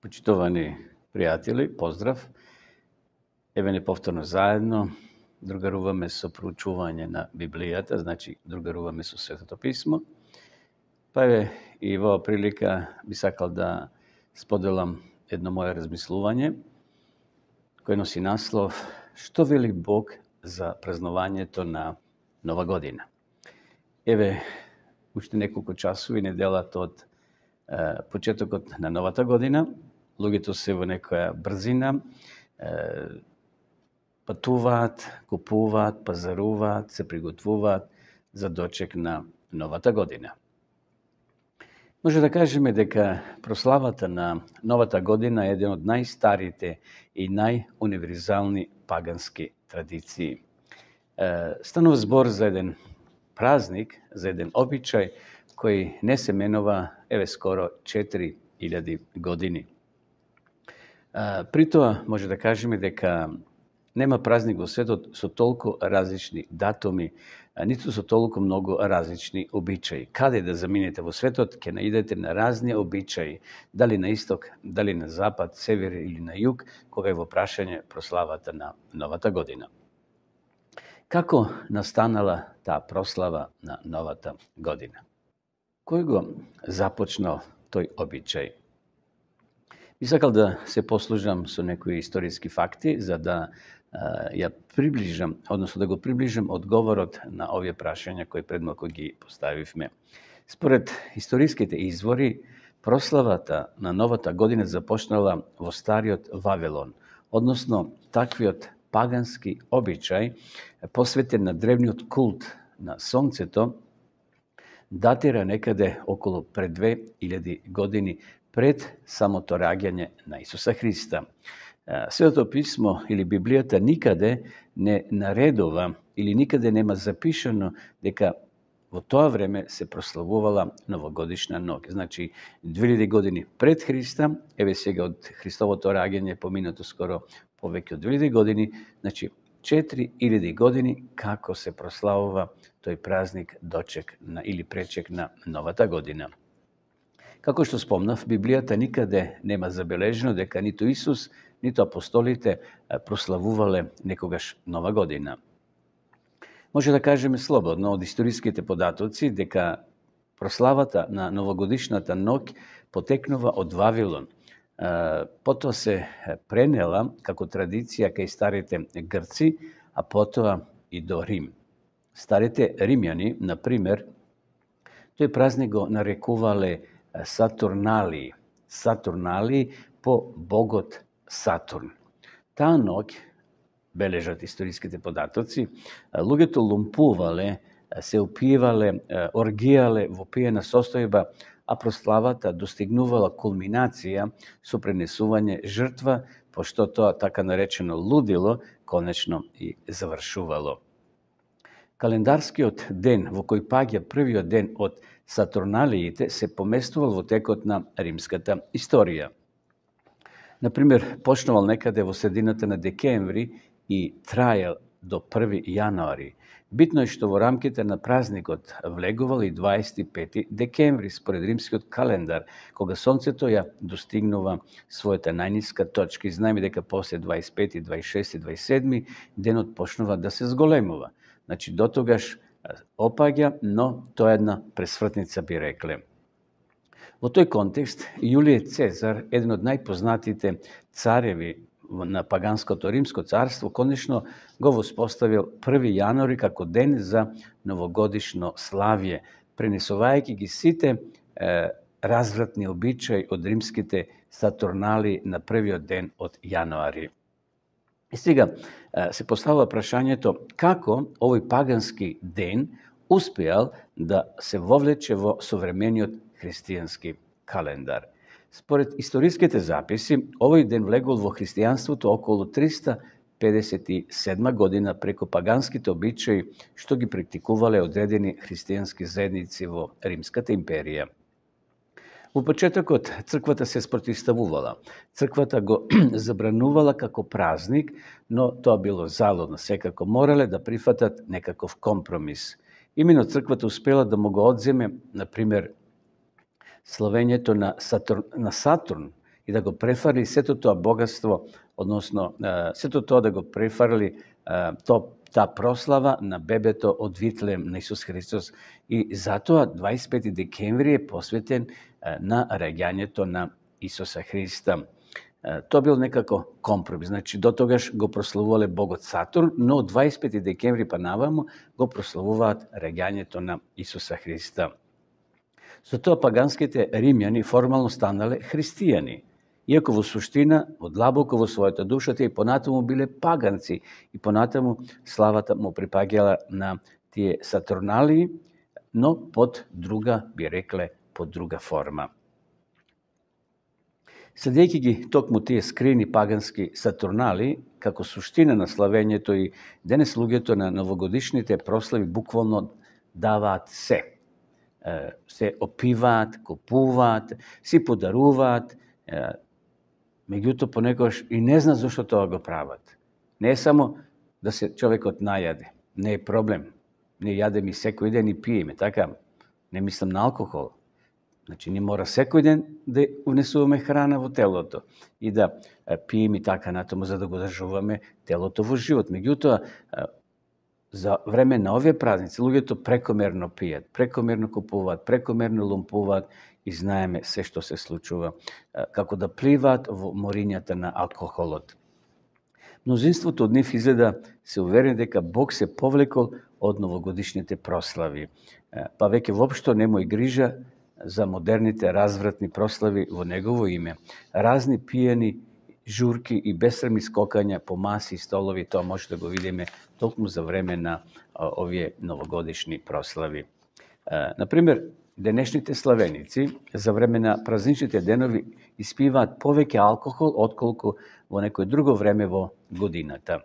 Почитувани пријатели, поздрав. Еве не повторно заедно другаруваме со проучување на Библијата, значи другаруваме со Светото Писмо. Па еве и во прилика би сакал да споделам едно мое размислување кој носи наслов "Што вели Бог за празнувањето на Нова година?" Еве уште неколку часови неделата од почетокот на новата година. Луѓето се во некоја брзина, патуваат, купуваат, пазаруваат, се приготвуваат за дочек на новата година. Може да кажеме дека прославата на новата година е еден од најстарите и најуниверзални пагански традиции. Станува збор за еден празник, за еден обичај кој не се менува еве скоро 4000 години. При тоа може да кажеме дека нема празник во светот со толку различни датуми, ниту со толку многу различни обичаи. Каде да заминете во светот, ќе наидете на разни обичаи, дали на исток, дали на запад, север или на југ, кога е во прашање прославата на новата година. Како настанала таа прослава на новата година? Кој го започнал тој обичај? Би сакал да се послужам со некои историски факти, за да ја приближам, односно да го приближам одговорот на овие прашања кои пред малку ги поставивме. Според историските извори, прославата на новата година започнала во стариот Вавилон, односно таквиот пагански обичај посветен на древниот култ на сонцето, датира некаде околу пред 2000 години пред самото раѓање на Исуса Христа. Светото писмо или Библијата никаде не наредува или никаде нема запишано дека во тоа време се прославувала новогодишна ноќ. Значи 2000 години пред Христа, еве сега од Христовото раѓање поминато скоро повеќе од 2000 години, значи 4000 години како се прославува тој празник дочек на или пречек на новата година. Како што спомнав, Библијата никаде нема забележено дека ниту Исус, ниту апостолите прославувале некогаш нова година. Може да кажеме слободно од историските податоци дека прославата на новогодишната ноќ потекнува од Вавилон. Потоа се пренела како традиција кај старите грци, а потоа и до Рим. Старите римјани, например, тој празник го нарекувале Сатурналии. Сатурналии по богот Сатурн. Таа ноќ, бележат историските податоци, луѓето лумпувале, се опиевале, оргијале во пиена состојба, а прославата достигнувала кулминација со пренесување жртва, пошто тоа така наречено лудило конечно и завршувало. Календарскиот ден во кој паѓа првиот ден од Сатурналиите се поместувал во текот на римската историја. Например, почнувал некаде во средината на декември и траел до 1 јануари. Битно е што во рамките на празникот влегувал и 25 декември според римскиот календар, кога сонцето ја достигнува својата најниска точка. И знаеме дека после 25, 26 и 27 денот почнува да се зголемува. Значи, до тогаш опаѓа, но тоа е една пресвртница, би рекле. Во тој контекст, Јулиј Цезар, еден од најпознатите цареви на паганското Римско царство, конечно го воспоставил 1 јануари како ден за новогодишно славје, пренесувајќи ги сите развратни обичаи од римските Сатурнали на првиот ден од јануари. И сега се поставува прашањето како овој пагански ден успеал да се вовлече во современиот христијански календар. Според историските записи, овој ден влегол во христијанството околу 357 година преку паганските обичаи што ги практикувале одредени христијански заедници во Римската империја. Во почетокот црквата се спротивставувала. Црквата го забранувала како празник, но тоа било залудно. Секако морале да прифатат некаков компромис. Именно црквата успела да му го одземе, например, славењето на Сатурн и да го префарли сето тоа богатство, односно сето тоа да го префарли таа прослава на бебето од Витлеем на Исус Христос. И затоа 25 декември е посветен на раѓањето на Исуса Христа. Тоа бил некако компромис. Значи, до тогаш го прославувале богот Сатурн, но од 25 декември па наваму го прославуваат раѓањето на Исуса Христа. Со тоа паганските римјани формално станале христијани, иако во суштина, одлабоко во својата душа, тие и понатаму биле паганци и понатаму славата му припаѓала на тие Сатурналии, но под друга, би рекле, под друга форма. Следејќи ги токму тие скрини пагански Сатурнали, како суштина на славењето и денес луѓето на новогодишните прослави буквално даваат се. Се опиваат, купуваат, си подаруваат, меѓутоа понекогаш и не знаат зошто тоа го прават. Не е само да се човекот најаде, не е проблем. Не јадеме секој ден и пиеме, така? Не мислам на алкохол. Значи, не мора секој ден да унесуваме храна во телото и да пиеме така натаму за да го држуваме телото во живот. Меѓутоа, за време на овие празници, луѓето прекомерно пијат, прекомерно купуваат, прекомерно лумпуваат и знаеме се што се случува, како да пливаат во морињата на алкохолот. Мнозинството од нив изгледа се уверени дека Бог се повлекол од новогодишните прослави, па веќе воопшто не му и грижа за модерните развратни прослави во негово име. Разни пијани журки и бесрамни скокања по маси и столови, тоа може да го видиме токму за време на овие новогодишни прослави. Например, денешните славеници за време на празничните денови испиваат повеќе алкохол отколку во некој друго време во годината.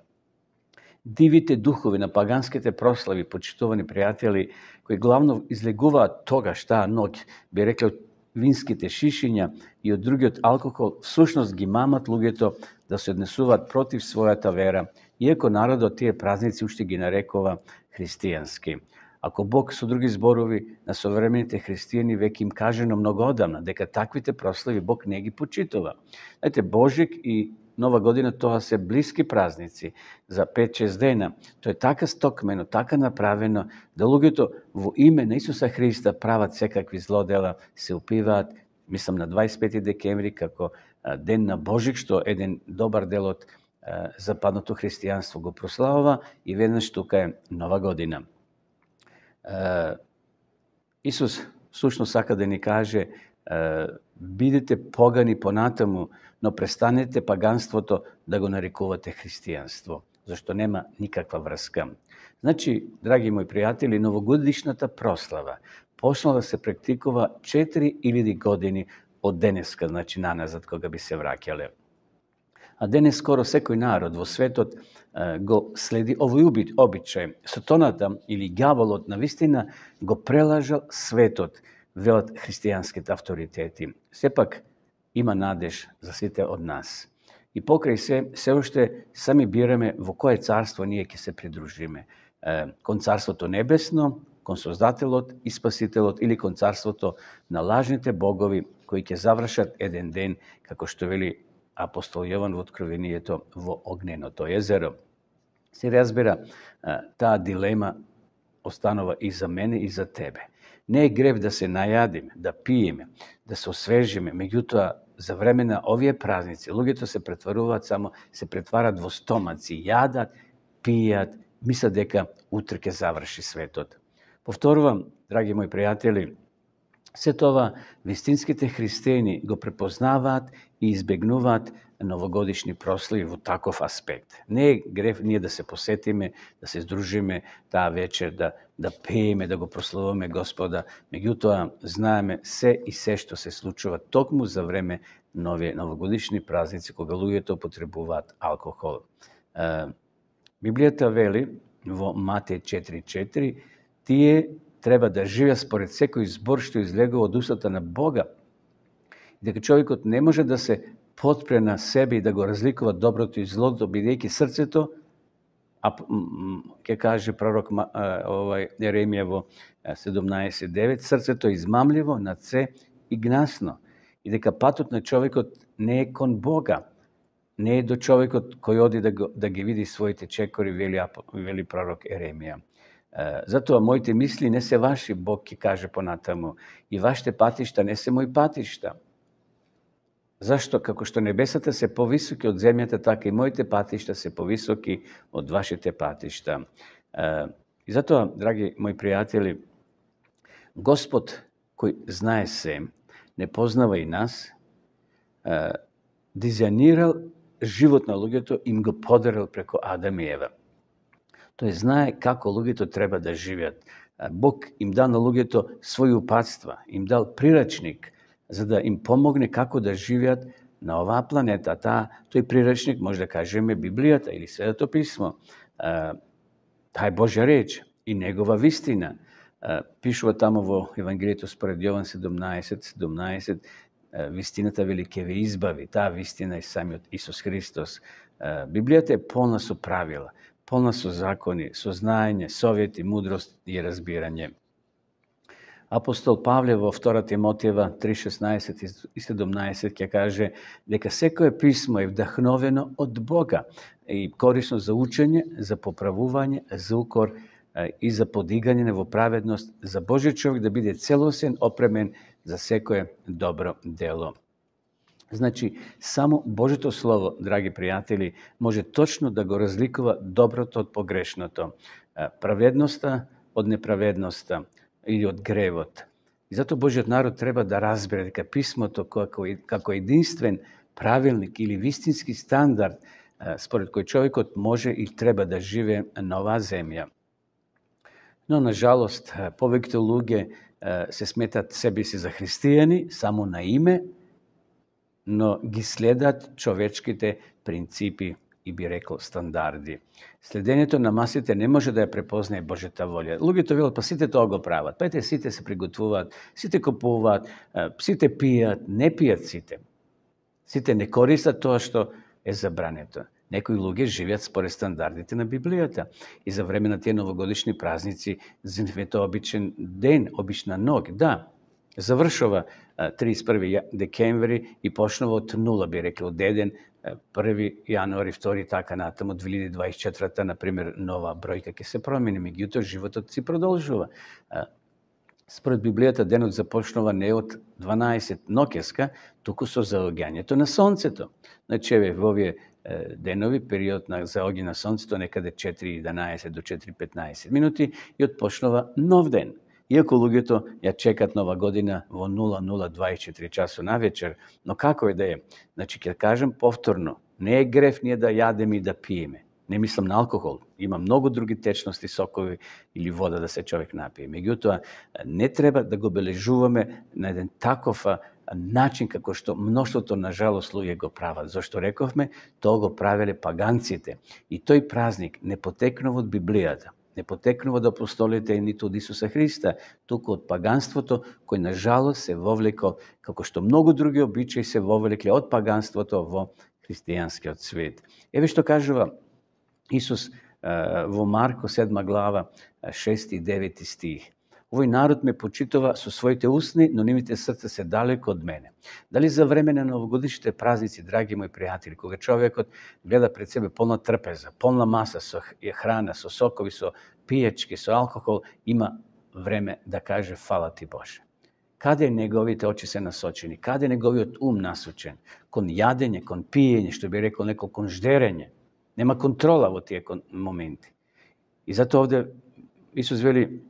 Дивите духови на паганските прослави, почитувани пријатели, кои главно излегуваат тогаш таа ноќ, би рекле винските шишиња и од другиот алкохол, всушност ги мамат луѓето да се однесуваат против својата вера, иако народот тие празници уште ги нарекува христијански. Ако Бог со други зборови на современите христијани веќе им кажено многу одамна дека таквите прослави Бог не ги почитува. Знаете, Божик и Нова година тоа се блиски празници за 5-6 дена. Тоа е така стокмено, така направено да луѓето во име на Исуса Христа прават секакви злодела, се упиваат, мислам на 25 декември како ден на Божик, што еден добар дел од западното христијанство го прославува и веднаш тука е Нова година. Исус всушност сака да ни каже бидете погани понатаму, но престанете паганството да го нарекувате христијанство, зашто нема никаква врска. Значи, драги мои пријатели, новогодишната прослава почнала да се практикува 4000 години од денеска, значи наназад кога би се враќале. А денес скоро секој народ во светот го следи овој обичај. Сатаната или ѓаволот навистина го прелажал светот, велат христијанските авторитети. Сепак има надеж за сите од нас. И покрај се уште сами бираме во кое царство ние ќе се придружиме. Кон царството небесно, кон Создателот и Спасителот, или кон царството на лажните богови кои ќе завршат еден ден, како што вели апостол Јован во Откровението, во огненото езеро. Се разбира, таа дилема останува и за мене и за тебе. Не е грев да се најадиме, да пиеме, да се освежиме, меѓутоа за време на овие празници луѓето се претваруваат само, се претварат во стомаци, јадат, пијат, мислат дека утре ќе заврши светот. Повторувам, драги мои пријатели, се тоа вистинските христијани го препознаваат и избегнуваат новогодишни прослави во таков аспект. Не е грев ние да се посетиме, да се здружиме таа вечер, да пееме, да го прославуваме Господа, меѓутоа знаеме се и се што се случува токму за време новогодишни празници кога луѓето употребуваат алкохол. Библијата вели во Матеј 4:4, тие треба да живеат според секој збор што излегува од устата на Бога, и дека човекот не може да се потпре на себе и да го разликува доброто и злото, бидејќи срцето, ќе каже пророк Еремија во 17:9, срцето е измамливо, над се и гнасно. и дека патот на човекот не е кон Бога, не е до човекот кој оди да ги види своите чекори, вели пророк Еремија. Затоа моите мисли не се ваши, Бог ќе каже понатаму, и вашите патишта не се мои патишта. Зашто? Како што небесата се повисоки од земјата, така и моите патишта се повисоки од вашите патишта. И затоа, драги мои пријатели, Господ кој знае се, не познава и нас, дизајнирал живот на луѓето, им го подарил преку Адам и Ева. Тој знае како луѓето треба да живеат. Бог им дал на луѓето своји упатства, им дал прирачник, за да им помогне како да живеат на оваа планета. Тој прирачник, може да кажеме, Библијата или Светото писмо. Таа е Божја реч и негова вистина. Пишува тамо во Евангелието според Јован 17, вистината вели ќе ве избави. Таа вистина е самиот Исус Христос. Библијата е полна со правила, полна со закони, со знаење, совети, мудрост и разбирање. Апостол Павле во 2 Тимотиева 3:16 и 17 ќе каже дека секое писмо е вдахновено од Бога и корисно за учење, за поправување, за укор и за подигање во праведност, за Божјиот човек да биде целосен, опремен за секое добро дело. Значи, само Божјото Слово, драги пријатели, може точно да го разликува доброто од погрешното, праведноста од неправедноста или од гревот. И затоа Божјиот народ треба да разбере дека писмото како единствен правилник или вистински стандард според кој човекот може и треба да живее на оваа земја. Но, на жалост, повеќето луѓе се сметат себе си за христијани само на име, но ги следат човечките принципи и би рекол стандарди. Следењето на масите не може да ја препознае Божјата волја. Луѓето велат, па сите тоа го прават. Па ете, сите се приготвуваат, сите купуваат, сите пијат, не пијат сите. Сите не користат тоа што е забрането. Некои луѓе живеат според стандардите на Библијата. И за време на тие новогодишни празници, за нив е тоа обичен ден, обична ног. Да, завршува 31. декември и почнува од нула, би рекли, од еден, 1. јануари, 2. така натаму, 2024, например, нова бројка ќе се промени, меѓутоа животот си продолжува. Според Библијата денот започнува не од 12 ноќеска, туку со заоѓањето на сонцето. Значи, во овие денови, период на заоѓање на сонцето, некаде 4:11 до 4:15 минути и отпочнува нов ден. Иако луѓето ја чекат нова година во 00:24 часу на вечер, но како е да е? Значи, ќе кажам повторно, не е греф ние да јадеме и да пиеме. Не мислам на алкохол. Има многу други течности, сокови или вода да се човек напие. Меѓутоа, не треба да го бележуваме на еден таков начин како што мноштвото на жалост луѓе го прават. Зашто рековме, тоа го правеле паганците. И тој празник не потекнува од Библијата, не потекнува од апостолите ниту од Исуса Христа, туку од паганството кој на жалост се вовлекол, како што многу други обичаи се вовлекле од паганството во христијанскиот свет. Еве што кажува Исус во Марко 7 глава 6 и 9 стих. Овој народ ме почитува со своите усни, но нивните срца се далеко од мене. Дали за време на новогодишните празници, драги мои пријатели, кога човекот гледа пред себе полна трпеза, полна маса со храна, со сокови, со пијачки, со алкохол, има време да каже фала ти Боже. Каде неговите очи се насочени? Каде неговиот ум насочен? Кон јадење, кон пиење, што би рекол некој кон ждерење. Нема контрола во тие моменти. И затоа овде Исус вели,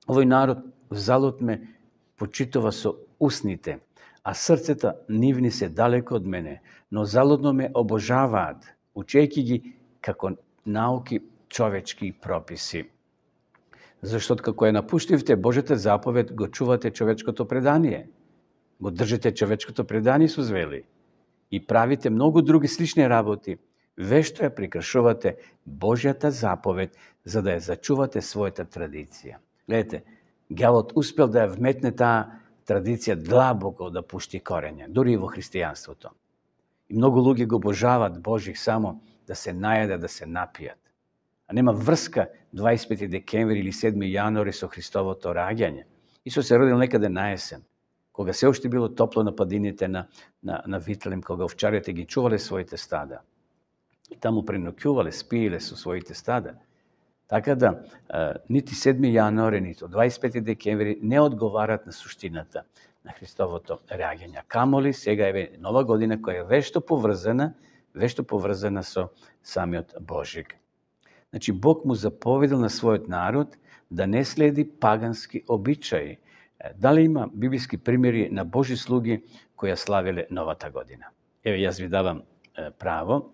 овој народ взалут ме почитува со усните, а срцета нивни се далеко од мене, но залудно ме обожаваат, учејќи ги како науки човечки прописи. Зашто како ја напуштивте Божјата заповед, го чувате човечкото предание. Го држите човечкото предание, Исус вели, и правите многу други слични работи, вешто ја прекршувате Божјата заповед, за да ја зачувате својата традиција. Гледате, ѓавот успел да ја вметне таа традиција длабоко да пушти корење, дури и во христијанството. И многу луѓе го обожават Божих само да се најадат, да се напијат. А нема врска 25 декември или 7 јануари со Христовото раѓање. Исус се родил некаде на есен, кога се уште било топло на падините на Витлем, кога овчарите ги чувале своите стада. И таму преноќувале, спиеле со своите стада. Така да, нити 7. јануари, нити 25. декември не одговарат на суштината на Христовото реаѓање. Камоли сега е нова година која е вешто поврзана со самиот Божик. Значи, Бог му заповедал на својот народ да не следи пагански обичаи. Дали има библиски примери на Божи слуги кои ја славеле новата година? Еве, јас ви давам право.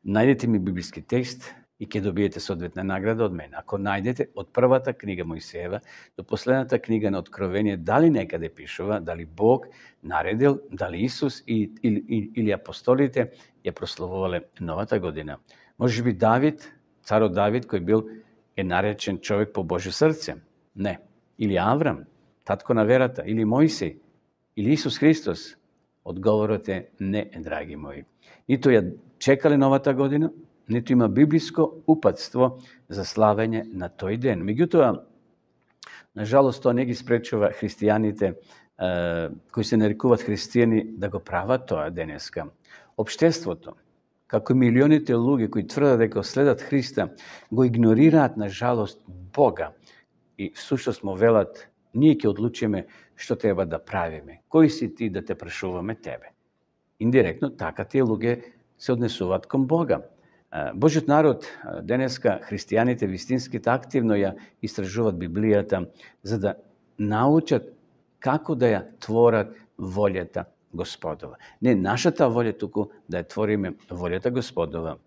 Најдете ми библиски текст и ќе добиете соодветна награда од мене. Ако најдете од првата книга Мојсеева до последната книга на Откровение, дали некаде пишува, дали Бог наредил, дали Исус или апостолите ја прославувале новата година. Може би Давид, царот Давид, кој е наречен човек по Божјо срце? Не. Или Аврам, татко на верата, или Мојсей, или Исус Христос? Одговорот е не, драги мои. Ниту ја чекале новата година, ниту има библиско упатство за славење на тој ден. Меѓутоа, нажалост, тоа не ги спречува христијаните кои се нарекуваат христијани да го прават тоа денеска. Обштеството, како милионите луѓе кои тврдат дека следат Христа, го игнорираат, нажалост, Бога. И всушност му велат, ние ќе одлучиме што треба да правиме. Кој си ти да те прашуваме тебе? Индиректно, така тие луѓе се однесуваат кон Бога. Божиот народ, денеска христијаните вистинските активно ја истражуваат Библијата за да научат како да ја творат волјата Господова. Не нашата волја, туку да ја твориме волјата Господова.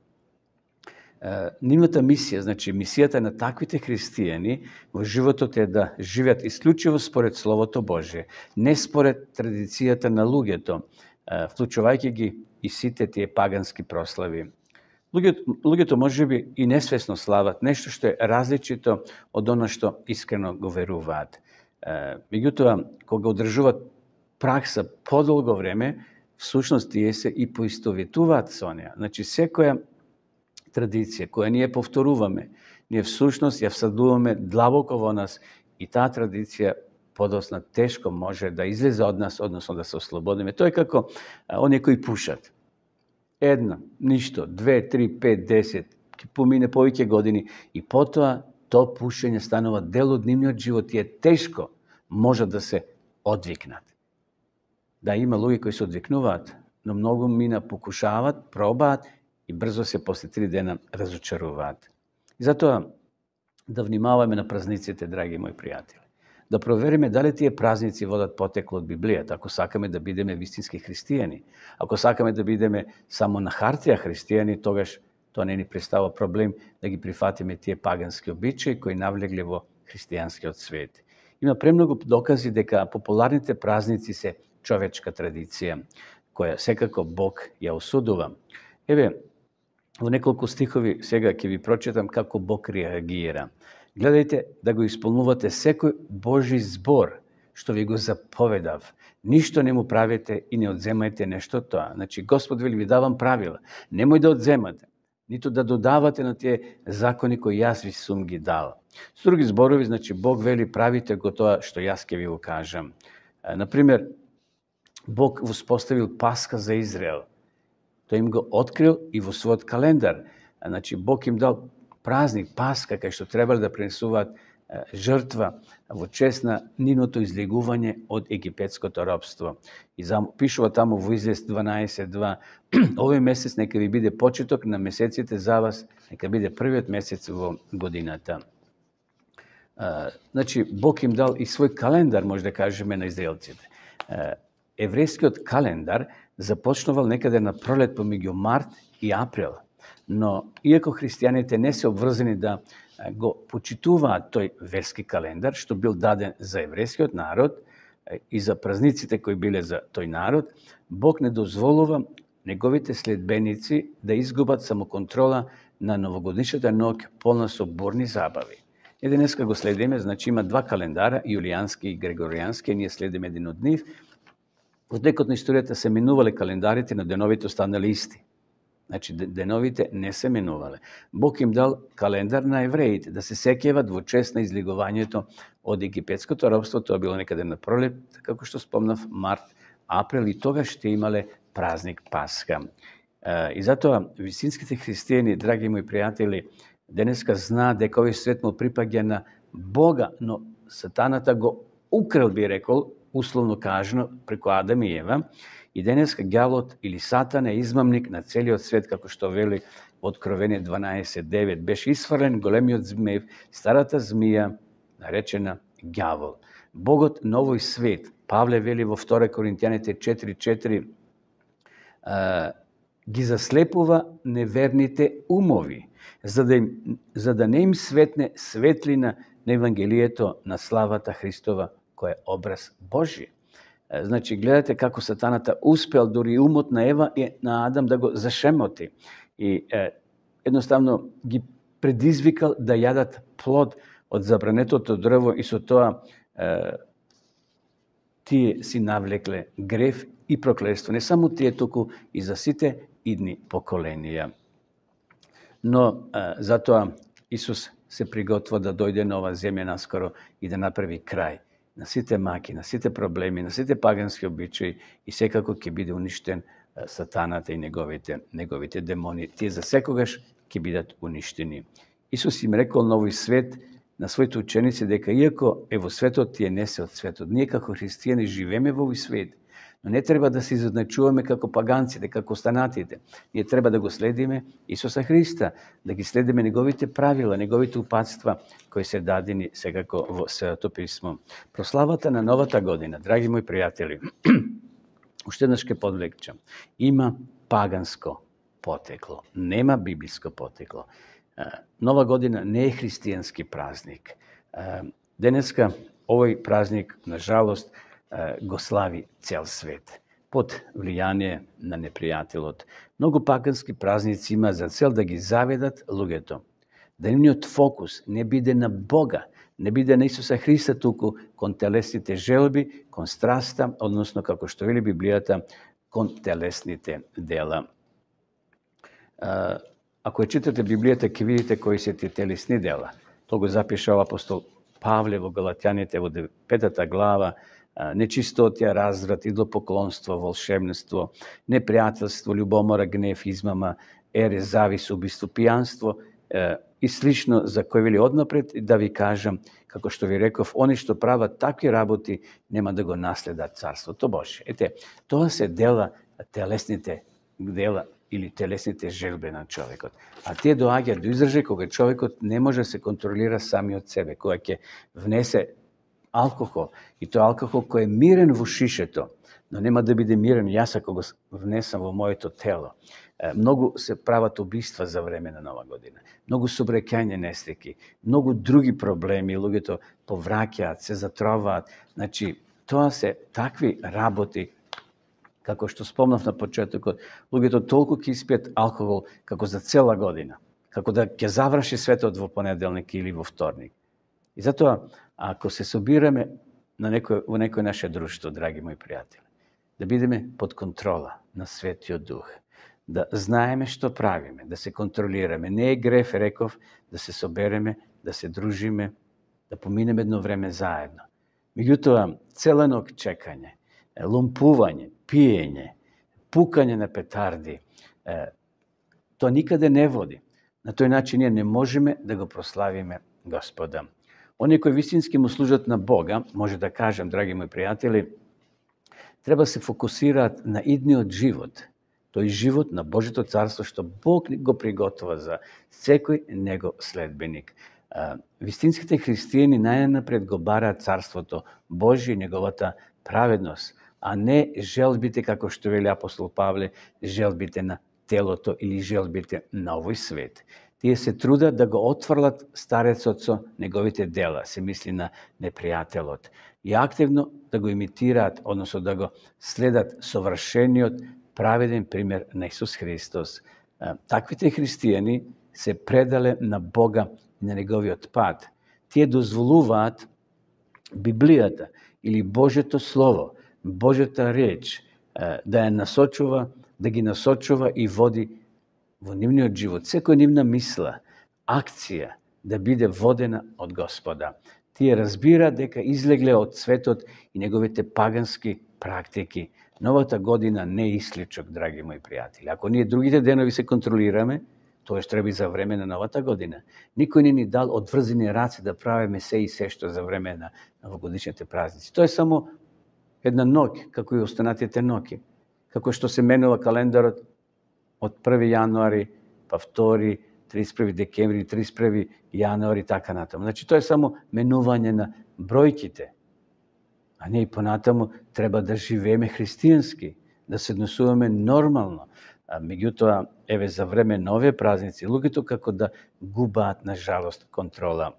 Нивната мисија, значи мисијата на таквите христијани во животот е да живеат исклучиво според Словото Божие, не според традицијата на луѓето, вклучувајќи ги и сите тие пагански прослави. Луѓето можеби и несвесно слават нешто што е различито од оно што искрено го веруваат. Меѓутоа, кога одржуваат пракса подолго време, всушност тие се и поистоветуваат со неа. Значи, секоја традиција која ние повторуваме, ние всушност ја всадуваме длабоко во нас и таа традиција подосна тешко може да излезе од нас, односно да се ослободиме. Тоа е како оние кои пушат. 1, ништо, 2, 3, 5, 10, ќе помине повеќе години и потоа тоа пушење станува дел од нивниот живот и е тешко може да се одвикнат. Да, има луѓе кои се одвикнуваат, но многу мина покушават, пробаат и брзо се после 3 дена разочаруваат. И затоа да внимаваме на празниците, драги мои пријатели. Да провериме дали тие празници водат потекло од Библијата, ако сакаме да бидеме вистински христијани. Ако сакаме да бидеме само на хартија христијани, тогаш тоа не ни представува проблем да ги прифатиме тие пагански обичаи кои навлегле во христијанскиот свет. Има премногу докази дека популарните празници се човечка традиција, која секако Бог ја осудува. Еве, во неколку стихови сега ќе ви прочитам како Бог реагира. Гледајте да го исполнувате секој Божи збор, што ви го заповедав. Ништо не му правите и не одземајте нешто тоа. Значи, Господ ви давам правила. Немој да одземате, ниту да додавате на тие закони кои јас ви сум ги дал. С други зборови, значи, Бог вели правите го тоа што јас ќе ви го кажам. Например, Бог воспоставил Пасха за Израел. Тој им го открил и во својот календар. Значи, Бог им дал празник, Пасха, кај што требале да пренесуваат жртва во чест на нивното излегување од египетското робство. И пишува таму во Излез 12:2, овој месец нека ви биде почеток на месеците за вас, нека биде првиот месец во годината. Значи, Бог им дал и свој календар, може да кажеме, на израелците. Еврејскиот календар започнувал некаде на пролет помеѓу март и април. Но, иако христијаните не се обврзани да го почитуваат тој верски календар, што бил даден за еврејскиот народ и за празниците кои биле за тој народ, Бог не дозволува неговите следбеници да изгубат самоконтрола на новогодишната ноќ полна со бурни забави. И денеска го следиме, значи има два календара, јулијански и грегоријански, ние следиме един од нив. Во текот на историјата се минувале календарите, на деновите останали исти. Значи, деновите не се менувале. Бог им дал календар на евреите, да се сеќават во чест на излегувањето од египетското робство. Тоа било некаде на пролет, како што спомнав, март, април, и тогаш ще имале празник Пасха. И затоа вистинските христијани, драги мои пријатели, денеска знаат дека овој свет му припаѓа на Бога, но сатаната го украл, би рекол, условно кажано, преку Адам и Ева. И денеска ѓаволот или Сатан е измамник на целиот свет, како што вели во Откровение 12:9. Беше исфрлен големиот змеев, старата змија, наречена ѓавол. Богот на овој свет, Павле вели во 2 Коринтијаните 4:4, ги заслепува неверните умови, за да не им светне светлина на Евангелието на славата Христова, кој е образ Божи. Значи, гледате како сатаната успел дури умот на Ева и на Адам да го зашемоти. И едноставно ги предизвикал да јадат плод од забранетото дрво и со тоа тие си навлекле грев и проклетство. Не само тие, туку и за сите идни поколенија. Но затоа Исус се приготвува да дојде на оваа земја наскоро и да направи крај на сите маки, на сите проблеми, на сите пагански обичаи, и секако ќе биде уништен сатаната и неговите демони. Тие за секогаш ќе бидат уништени. Исус им рекол на овој свет, на своите ученици, дека иако е во светот, тие не се од светот. Ние како христијани живееме во овој свет, но не треба да се изначуваме како паганците, како останатите. Ние треба да го следиме Исуса Христа, да ги следиме неговите правила, неговите упатства, кои се дадени секако во Светото писмо. Прославата на новата година, драги мои пријатели, уште еднаш ќе подвлекчам, има паганско потекло, нема библиско потекло. Нова година не е христијански празник. Денеска овој празник, на жалост, го слави цел свет, под влијание на непријателот. Многу пагански празници има за цел да ги заведат луѓето. Да нивниот фокус не биде на Бога, не биде на Исуса Христа, туку кон телесните желби, кон страста, односно, како што вели Библијата, кон телесните дела. Ако ја читате Библијата, ќе видите кои се тие телесни дела. Тоа го запишал апостол Павле во Галатјаните во 5 глава, нечистотија, разврат, идлопоклонство, волшебство, непријателство, љубомора, гнев, измама, ере, завис, убиство, пијанство и слично, за кои вели однапред да ви кажам, како што ви реков, они што прават такви работи нема да го наследат Царството Божие. Ете, тоа се дела, телесните дела или телесните желби на човекот. А тие доаѓаат до изражај кога човекот не може да се контролира сами од себе, кога ќе внесе алкохол, и тоа алкохол кој е мирен во шишето, но нема да биде мирен јас ако го внесам во моето тело. Многу се прават убиства за време на Нова година. Многу собрекање нестеки, многу други проблеми, луѓето повраќаат, се затроваат. Значи, тоа се такви работи, како што спомнав на почетокот, луѓето толку ќе испијат алкохол како за цела година, како да ќе заврши светот во понеделник или во вторник. И затоа, ако се собираме во некој наше друштво, драги мои пријатели, да бидеме под контрола на Светиот Дух, да знаеме што правиме, да се контролираме. Не е греф, реков, да се собереме, да се дружиме, да поминеме едно време заедно. Меѓутоа, цела ног чекање, лумпување, пиење, пукање на петарди, тоа никаде не води. На тој начин ние не можеме да го прославиме Господа. Оние кои вистински му служат на Бога, може да кажем, драги мои пријатели, треба се фокусираат на идниот живот, тој живот на Божето царство што Бог го приготова за секој него следбеник. Вистинските христијани најнапред го бараат царството Божие и неговата праведност, а не желбите, како што вели апостол Павле, желбите на телото или желбите на овој свет. Тие се трудат да го отфрлат старецот со неговите дела, се мисли на непријателот, и активно да го имитираат, односно да го следат совршениот праведен пример на Исус Христос. Таквите христијани се предале на Бога и на неговиот пат. Тие дозволуваат Библијата или Божето Слово, Божјата реч да ја насочува, да ги насочува и води во нивниот живот, секоја нивна мисла, акција да биде водена од Господа. Тие разбира дека излегле од светот и неговите пагански практики. Новата година не е исличок, драги мои пријатели. Ако ние другите денови се контролираме, тоа што треба и за време на новата година. Никој не ни дал одврзени раце да правиме се и се што за време на новогодишните празници. Тоа е само една ноќ, како и останатите ноќи. Како што се менува календарот од 1. јануари, па 2. 31. декември, 31. јануари, така натаму. Значи, тоа е само менување на бројките. А ние и понатаму треба да живееме христијански, да се однесуваме нормално. Меѓутоа, еве за време на овие празници, луѓето како да губаат, на жалост, контрола.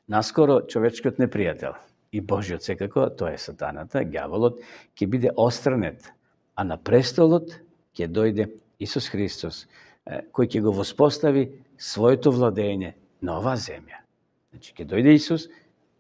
Наскоро човечкиот непријател и Божиот секако, тоа е сатаната, ѓаволот, ќе биде отстранет, а на престолот ќе дојде Исус Христос, кој ќе го воспостави своето владење на оваа земја. Значи, ќе дојде Исус,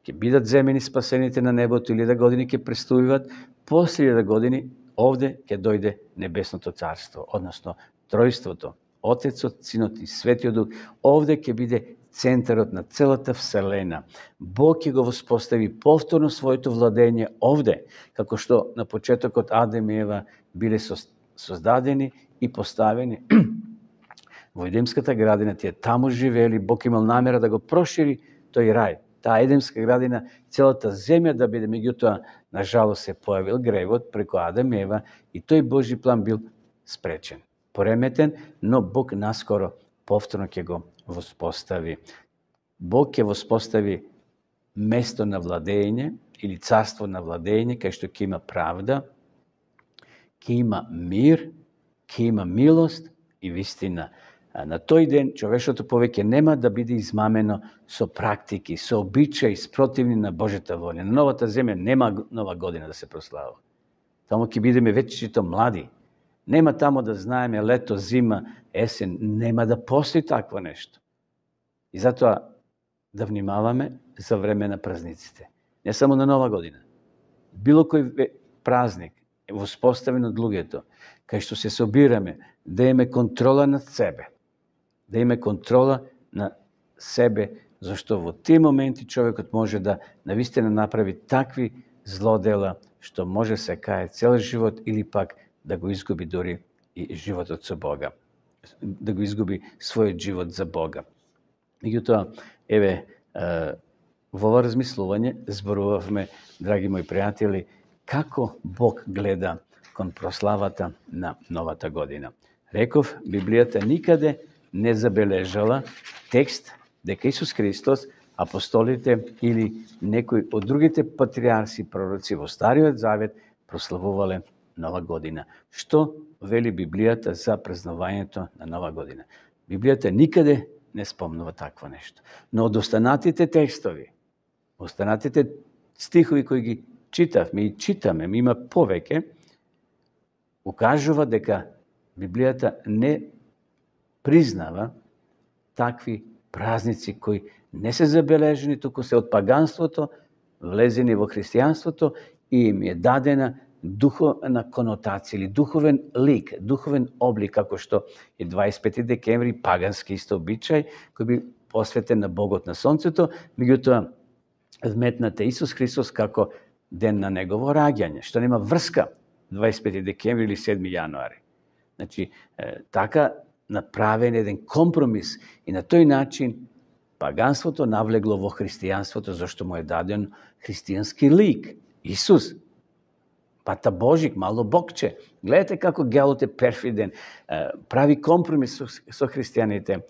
ќе бидат земени спасените на небото, 1000 години ќе престојуваат, после 1000 години овде ќе дојде небесното царство, односно тројството, Отецот, Синот и Светиот Дух. Овде ќе биде центарот на целата вселена. Бог ќе го воспостави повторно своето владење овде, како што на почетокот Адем и Ева биле создадени и поставени во Едемската градина. Тие таму живеели, Бог имал намера да го прошири тој рај, таа Едемска градина, целата земја да биде, меѓутоа, на жалост се појавил гревот преку Адем и Ева и тој Божи план бил спречен, пореметен, но Бог наскоро повторно ќе го воспостави. Бог ќе воспостави место на владење или царство на владење, кај што ќе има правда, ќе има мир, ќе има милост и вистина. На тој ден човечното повеќе нема да биде измамено со практики, со обичаи спротивни на Божјата воља. На новата земја нема нова година да се прославува. Таму ќе бидеме вечито млади. Нема тамо да знаеме лето, зима, есен. Нема да постои такво нешто. И затоа да внимаваме за време на празниците. Не само на нова година. Било кој празник е воспоставен од луѓето, кај што се собираме, да имаме контрола над себе. Да имаме контрола на себе, зашто во тие моменти човекот може да навистина направи такви злодела, што може се кае цел живот или пак да го изгуби дори и животот со Бога. Да го изгуби својот живот за Бога. Меѓутоа, еве, во ова размислување зборувавме, драги мои пријатели, како Бог гледа кон прославата на новата година. Реков, Библијата никаде не забележала текст дека Исус Христос, апостолите или некои од другите патриарси, пророци во Стариот Завет прославувале нова година. Што вели Библијата за празнувањето на нова година? Библијата никаде не спомнува такво нешто. Но од останатите текстови, останатите стихови кои ги читавме и читаме, има повеќе, укажува дека Библијата не признава такви празници кои не се забележени, туку се од паганството, влезени во христијанството и им е дадена духовна конотација или духовен лик, духовен облик, како што е 25 декември, пагански исто обичај, кој би посветен на Богот на Сонцето, меѓутоа вметнат е Исус Христос како ден на негово раѓање, што нема врска 25 декември или 7 јануари. Значи, така направен еден компромис и на тој начин паганството навлегло во христијанството, зашто му е даден христијански лик. Исус, Пата Божик, мало Богче. Гледате како ѓаволот е перфиден, прави компромис со христијаните.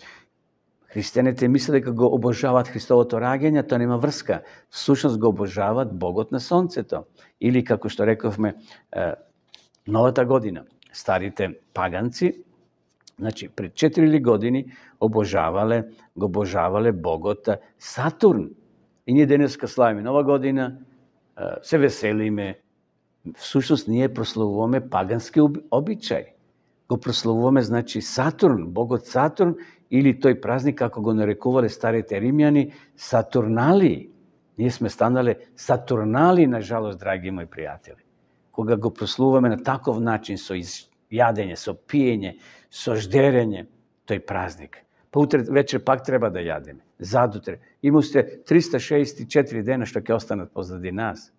Христијаните мислат дека го обожаваат Христовото раѓање, тоа нема врска. Всушност го обожаваат Богот на Сонцето. Или, како што рековме, новата година. Старите паганци, значи, пред 4 години го обожавале Богот Сатурн. И ние денеска славиме нова година, се веселиме. Всушност, ние прославуваме пагански обичај. Го прославуваме, значи, Сатурн, Богот Сатурн, или тој празник, како го нарекувале старите римјани, Сатурнали. Ние сме станале Сатурнали, на жалост, драги мои пријатели. Кога го прославуваме на таков начин, со јадење, со пиење, со ждерење тој празник. Па утре вечер пак треба да јадеме. Задутре. Има уште 364 дена што ќе останат позади нас.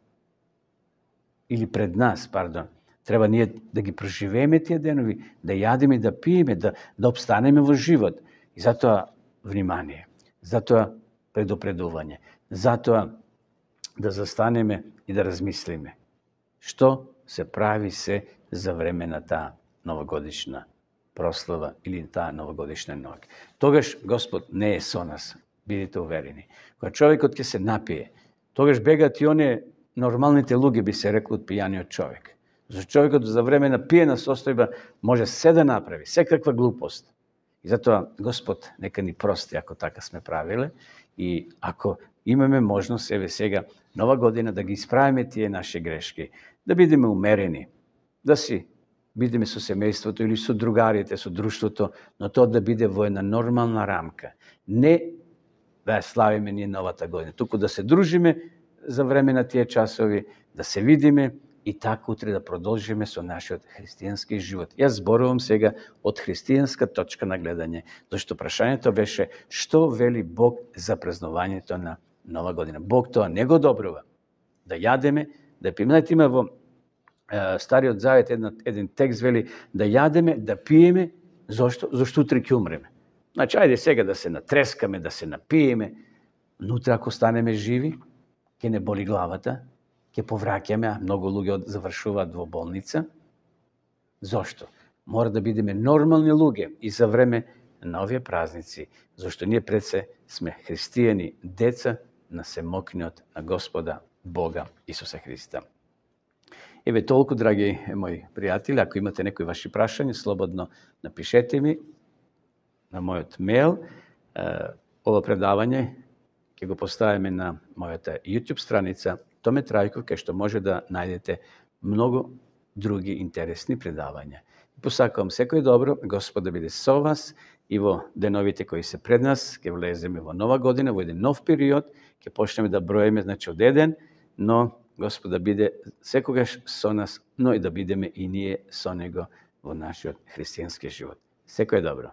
Или пред нас, пардон. Треба ние да ги проживееме тие денови, да јадеме и да пиеме, да обстанеме во живот. И затоа внимание, затоа предупредување, затоа да застанеме и да размислиме. Што се прави се за време на таа новогодишна прослава или таа новогодишна ноќ. Тогаш Господ не е со нас, бидете уверени. Кога човекот ќе се напие, тогаш бегат и оние нормалните луѓе, би се рекло, од пијаниот човек. Зашто човекот за време на пиена состојба може се да направи, секаква глупост. И затоа Господ нека ни прости ако така сме правиле и ако имаме можност еве сега нова година да ги исправиме тие наши грешки, да бидеме умерени, да си бидеме со семејството или со другарите, со друштвото, но тоа да биде во една нормална рамка. Не да ја славиме ние новата година, туку да се дружиме за време на тие часови, да се видиме и така утре да продолжиме со нашиот христијански живот. Јас зборувам сега од христијанска точка на гледање, зашто прашањето беше што вели Бог за празнувањето на нова година. Бог тоа не го добрува. Да јадеме, да пиеме. Има во Стариот Завет еден текст вели да јадеме, да пиеме, зашто утре ќе умреме. Значи, ајде сега да се натрескаме, да се напиеме, но утре ако станеме живи, ќе не боли главата, ќе повраќаме, а многу луѓе завршуваат во болница. Зошто? Мора да бидеме нормални луѓе и за време на овие празници, зашто ние пред се сме христијани, деца на семокниот на Господа Бога Исуса Христа. Еве толку, драги мои пријатели, ако имате некои ваши прашања, слободно напишете ми на мојот мејл. Ова предавање ќе го поставиме на мојата YouTube страница Томе Трајков, кај што може да најдете многу други интересни предавања. Посакувам секој добро, Господ да биде со вас и во деновите кои се пред нас, ќе влеземе во нова година, во еден нов период, ќе почнеме да броиме, значи од еден, но Господ да биде секогаш со нас, но и да бидеме и ние со Него во нашиот христијански живот. Секој добро.